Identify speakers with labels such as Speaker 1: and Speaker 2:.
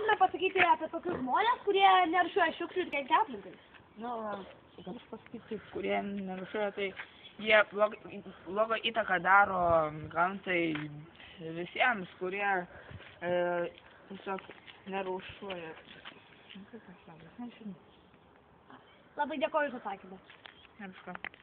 Speaker 1: galime pasakyti apie tokius žmonės, kurie nerūšiuoja šiukšlių ir kenkia aplinkai?
Speaker 2: Nu, galiu pasakyti, kurie nerūšiuoja, tai jie blogą įtaką daro gamtai visiems, kurie tiesiog nerūšiuoja.
Speaker 1: Labai dėkoju už atsakymą.
Speaker 2: Nevišką.